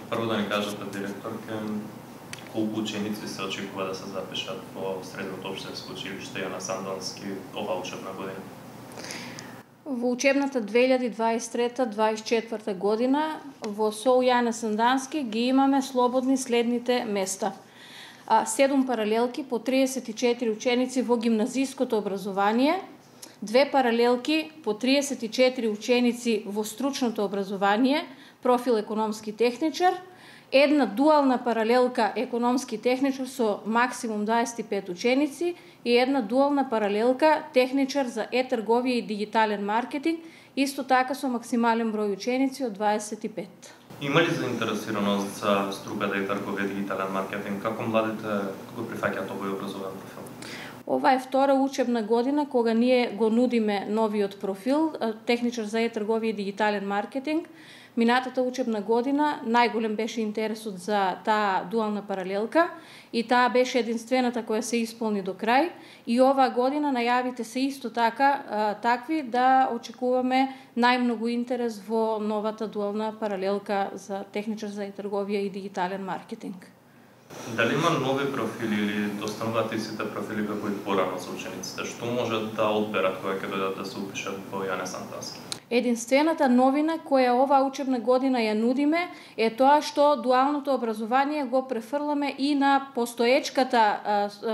Прво да ни кажете, директорке, колку ученици се очекува да се запишат во средното општинско училиште Јана Сандански ова учебна година? Во учебната 2023-2024 година во СОУ Јане Сандански ги имаме слободни следните места. 7 паралелки по 34 ученици во гимназиското образование, 2 паралелки по 34 ученици во стручното образование, профил економски техничар, една дуална паралелка економски техничар со максимум 25 ученици и една дуална паралелка техничар за е-трговија и дигитален маркетинг, исто така со максимален број ученици од 25. Има ли заинтересираност за струката е-трговија и дигитален маркетинг? Како младите го прифаќаат овој образовен профил? Ова е втора учебна година кога ние го нудиме новиот профил, техничар за е-трговија и дигитален маркетинг. Минатата учебна година најголем беше интересот за таа дуална паралелка и таа беше единствената која се исполни до крај. И оваа година најавите се исто така такви да очекуваме најмногу интерес во новата дуална паралелка за техничар за е-трговија и дигитален маркетинг. Дали има нови профили или достануваат истите профили како и порано за учениците? Што можат да одберат кога ќе дојдат да се упишат во Јане Сандански? Единствената новина која оваа учебна година ја нудиме е тоа што дуалното образование го префрламе и на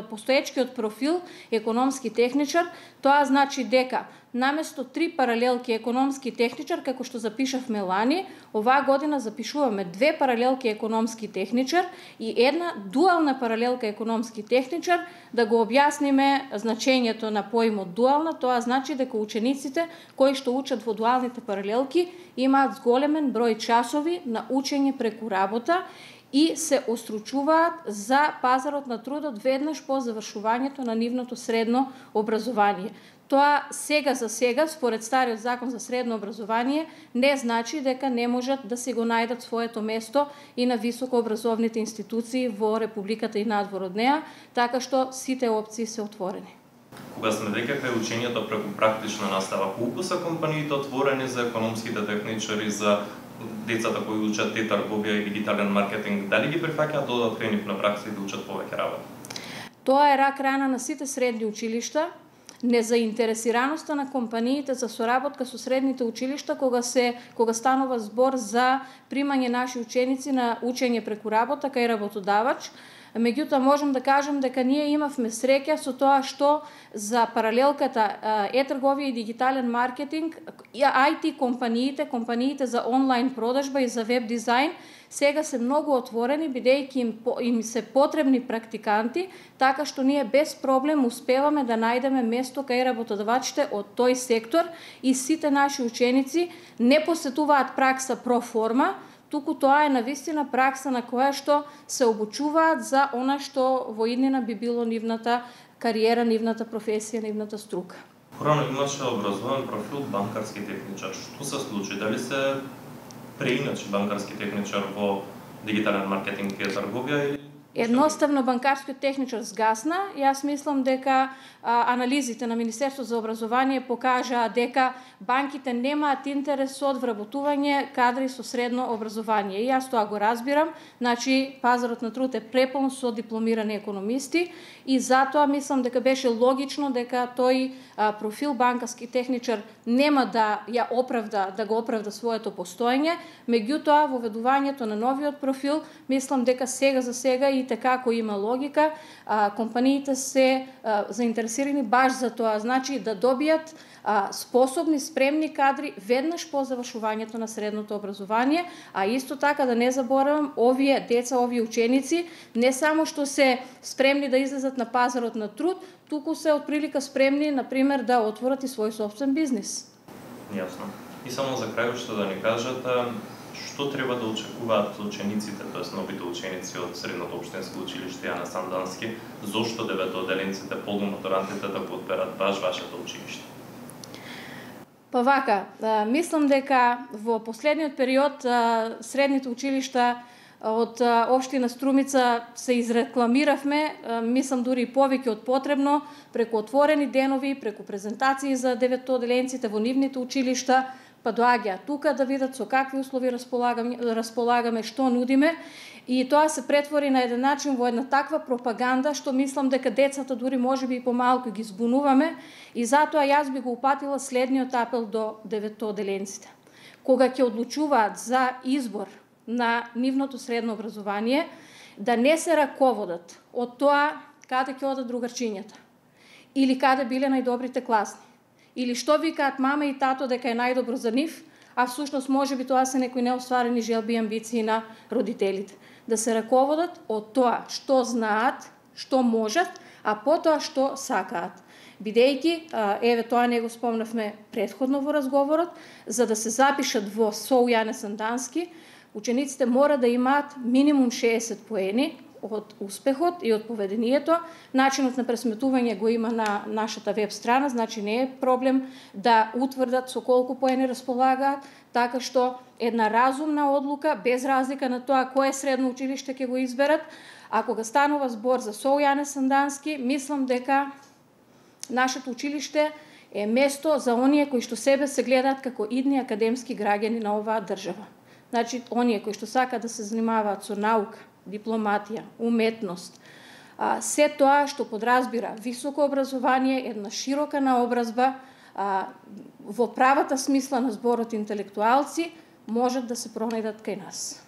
постоечкиот профил економски техничар. Тоа значи дека наместо 3 паралелки економски техничар, како што запишавме лани, оваа година запишуваме 2 паралелки економски техничар и една дуална паралелка економски техничар. Да го објасниме значењето на поимот дуална, тоа значи дека учениците кои што учат во дуалните паралелки имаат зголемен број часови на учење преку работа и се остручуваат за пазарот на трудот веднаш по завршувањето на нивното средно образование. Тоа сега за сега, според стариот закон за средно образование, не значи дека не можат да си го најдат своето место и на високообразовните институции во Републиката и надвор од неа, така што сите опции се отворени. Кога сме веќе кај учењето преку практична настава, колку се компаниите отворени за економските техничари, за децата кои учат е-трговија и дигитален маркетинг, дали ги прифаќаат да одат кај нив на пракса и да учат повеќе работа? Тоа е рак рана на сите средни училишта. Незаинтересираноста на компаниите за соработка со средните училишта кога станува збор за примање наши ученици на учење преку работа кај работодавач. Меѓутоа можам да кажам дека ние имавме среќа со тоа што за паралелката е-трговија и дигитален маркетинг, IT компаниите за онлайн продажба и за веб дизајн сега се многу отворени, бидејќи им се потребни практиканти, така што ние без проблем успеваме да најдеме место кај работодавачите од тој сектор и сите наши ученици не посетуваат пракса проформа, туку тоа е навистина пракса на која што се обучуваат за она што во иднина би било нивната кариера, нивната професија, нивната струка. Порано имаше образован профил банкарски техничар. Што се случи? Дали се преиначи банкарски техничар во дигитален маркетинг и трговија или Едноставно банкарскиот техничар згасна. Јас мислам дека анализите на Министерството за образование покажаа дека банките немаат интерес од вработување кадри со средно образование. И јас тоа го разбирам. Значи, пазарот на труд е препон со дипломирани економисти и затоа мислам дека беше логично дека тој профил банкарски техничар нема да го оправда своето постоење. Меѓутоа, во введувањето на новиот профил, мислам дека сега за сега и како има логика, компаниите се заинтересирани баш за тоа, значи да добијат способни, спремни кадри веднаш по завршувањето на средното образование, а исто така да не заборавам, овие деца, овие ученици не само што се спремни да излезат на пазарот на труд, туку се отприлика спремни, например, да отворат и свој собствен бизнис. Јасно. И само за крај што да ни кажете, што треба да очекуваат учениците, тоест новите ученици од средното општинско училиште Јана Сандански, зошто деветоделенците, полуматурантите да го одберат баш вашето училиште? Па вака, мислам дека во последниот период средните училишта од општина Струмица се изрекламиравме, мислам дури и повеќе од потребно, преку отворени денови, преку презентации за деветоделенците во нивните училишта, па доаѓаат тука да видат со какви услови располагаме, што нудиме, и тоа се претвори на еден начин во една таква пропаганда што мислам дека децата дури можеби и помалку ги збунуваме, и затоа јас би го упатила следниот апел до деветоделенците. Кога ќе одлучуваат за избор на нивното средно образование, да не се раководат од тоа каде ќе одат другарчињата, или каде биле најдобрите класни, или што викаат мама и тато дека е најдобро за нив, а всушност можеби тоа се некои неостварени желби и амбиции на родителите. Да се раководат од тоа што знаат, што можат, а потоа што сакаат. Бидејќи, еве тоа не го спомнавме претходно во разговорот, за да се запишат во СОУ Јане Сандански, учениците мора да имаат минимум 60 поени од успехот и од поведението. Начинот на пресметување го има на нашата веб страна, значи не е проблем да утврдат со колку поени располагаат, така што една разумна одлука, без разлика на тоа кое средно училиште ќе го изберат. А кога станува збор за СОУ Јане Сандански, мислам дека нашето училиште е место за оние кои што себе се гледаат како идни академски граѓани на оваа држава. Значи, оние кои што сакаат да се занимаваат со наука, дипломатија, уметност, се тоа што подразбира високо образование, една широка наобразба, во правата смисла на зборот интелектуалци, можат да се пронајдат кај нас.